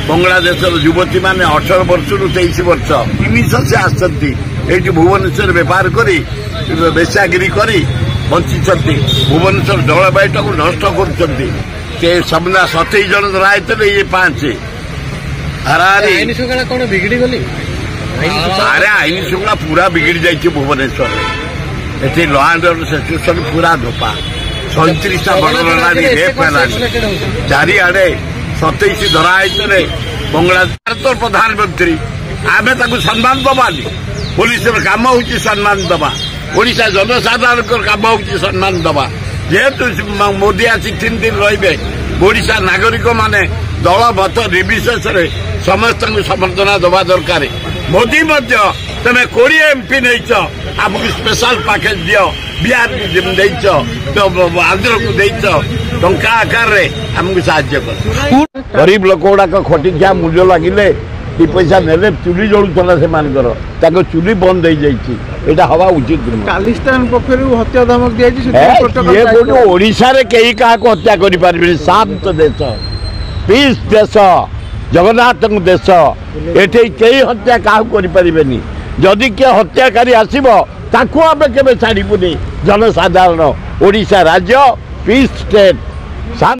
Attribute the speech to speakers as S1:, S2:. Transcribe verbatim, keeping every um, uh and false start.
S1: ବଙ୍ଗଳାଦେଶର ଯୁବତୀମାନେ ଅଠର ବର୍ଷରୁ ତେଇଶ ବର୍ଷ ତିନିଶହ ସେ ଆସିଛନ୍ତି ଏଇଠି ଭୁବନେଶ୍ୱରରେ ବେପାର କରି ବେଶ୍ୟାଗିରି କରି ବଞ୍ଚିଛନ୍ତି ଭୁବନେଶ୍ୱର ଜଳବାୟୁଟାକୁ ନଷ୍ଟ କରୁଛନ୍ତି ସେ ସମୁଦାୟ ସତେଇଶ ଜଣ ଧରା ହେଇଥିଲେ ଇଏ ପାଞ୍ଚ ହାରାହାରି
S2: ଆଇନ ଶୃଙ୍ଖଳା କଣ ବିଗିଡି ଗଲି
S1: ଆରେ ଆଇନ ଶୃଙ୍ଖଳା ପୁରା ବିଗିଡି ଯାଇଛି ଭୁବନେଶ୍ୱରରେ ଏଠି ଲ ଆଣ୍ଡ ଅର୍ଡର ସିଚୁଏସନ ପୁରା ଧୋପା ସଇଁତିରିଶଟା ମର୍ଡର ହେଲାଣି ରେପ୍ ହେଲାଣି ଚାରିଆଡେ ସତେଇଶ ଧରା ହେଇଥିଲେ ବଙ୍ଗଳା ଭାରତର ପ୍ରଧାନମନ୍ତ୍ରୀ ଆମେ ତାକୁ ସମ୍ମାନ ଦବାନି ପୋଲିସର କାମ ହଉଛି ସମ୍ମାନ ଦବା ଓଡ଼ିଶା ଜନସାଧାରଣଙ୍କର କାମ ହଉଛି ସମ୍ମାନ ଦବା ଯେହେତୁ ମୋଦି ଆସି ତିନି ଦିନ ରହିବେ ଓଡ଼ିଶା ନାଗରିକମାନେ ଦଳ ମତ ନିର୍ବିଶେଷରେ ସମସ୍ତଙ୍କୁ ସମର୍ଥନା ଦେବା ଦରକାର ମୋଦି ମଧ୍ୟ ତମେ କୋଡ଼ିଏ ଏମ୍ପି ନେଇଛ ଆମକୁ ସ୍ପେଶାଲ ପ୍ୟାକେଜ ଦିଅ ବିହାରକୁ ଦେଇଛ ଆନ୍ଧ୍ରକୁ ଦେଇଛ ଟଙ୍କା ଆକାରରେ ଆମକୁ ସାହାଯ୍ୟ କର ଗରିବ ଲୋକ ଗୁଡାକ ଖଟିଖିଆ ମୂଲ୍ୟ ଲାଗିଲେ ଦି ପଇସା ନେଲେ ଚୁଲି ଜଳୁଥିଲା ସେମାନଙ୍କର ତାଙ୍କ ଚୁଲି ବନ୍ଦ ହେଇଯାଇଛି ଏଇଟା ହବା ଉଚିତ ନୁହେଁ
S3: ଖାଲିସ୍ତାନ ପକ୍ଷରୁ ହତ୍ୟା ଧମକ ଦିଆଯାଇଛି
S1: ଏ,
S3: ସେଥିପାଇଁ ପ୍ରୋଟୋକଲ
S1: କିଏ
S3: ଜାରି
S1: କୋଉଠି ଓଡ଼ିଶାରେ କେହି କାହାକୁ ହତ୍ୟା କରିପାରିବେନି ଶାନ୍ତ ଦେଶ ପିସ୍ ଦେଶ ଜଗନ୍ନାଥଙ୍କ ଦେଶ ଏଠି କେହି ହତ୍ୟା କାହାକୁ କରିପାରିବେନି ଯଦି କିଏ ହତ୍ୟାକାରୀ ଆସିବ ତାକୁ ଆମେ କେବେ ଛାଡ଼ିବୁନି ଜନସାଧାରଣ ଓଡ଼ିଶା ରାଜ୍ୟ ପିସ୍ ଷ୍ଟେଟ୍ ଶାନ୍ତ